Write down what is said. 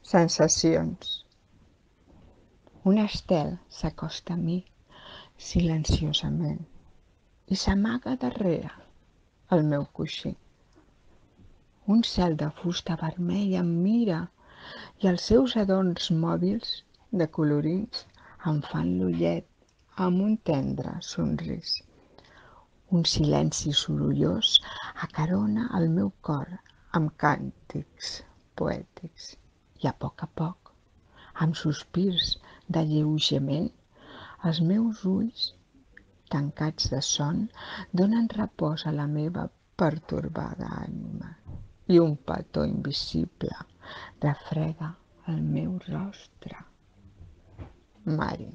sensacions. Un estel s'acosta a mi silenciosament i s'amaga darrere el meu coixí. Un cel de fusta vermella em mira i els seus adorns mòbils de colorins em fan l'ullet amb un tendre somrís. Un silenci sorollós acarona el meu cor amb càntics poètics i a poc, amb sospirs d'alleujament, els meus ulls, tancats de son, donen repòs a la meva pertorbada ànima i un petó invisible refreda el meu rostre. Mari.